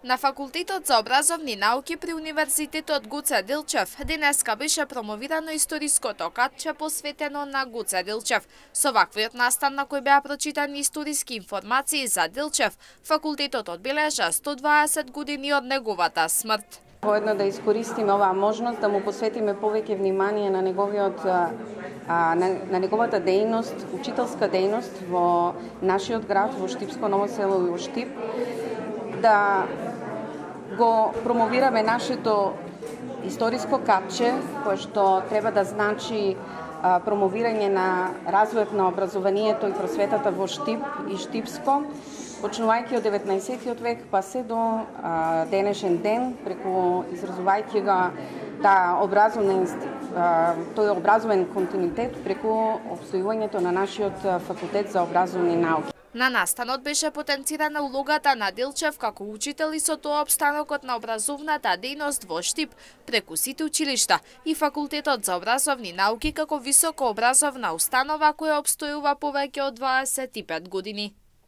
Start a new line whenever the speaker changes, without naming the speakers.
На Факултетот за образовни науки при Универзитетот Гоце Делчев денеска беше промовирано историското катче посветено на Гоце Делчев. Со ваквиот настан на кој беа прочитани историски информации за Делчев, факултетот одбележа 120 години од неговата смрт.
Воедно да искористиме оваа можност да му посветиме повеќе внимание на неговата дејност, учителска дејност во нашиот град, во Штипско Ново село и во Штип, да го промовираме нашето историско капче, кое што треба да значи промовирање на развојот на образованието и просветата во Штип и Штипско, почнувајќи од 19-тиот век па се до денешен ден, преку изразувајќи го тој образовен континуитет преку обстојувањето на нашиот факултет за образовни науки.
На настанот беше потенцирана улогата на Делчев како учител и со тоа опстанокот на образовната дејност во Штип преку сите училишта и факултетот за образовни науки како високо образовна установа која обстојува повеќе од 25 години.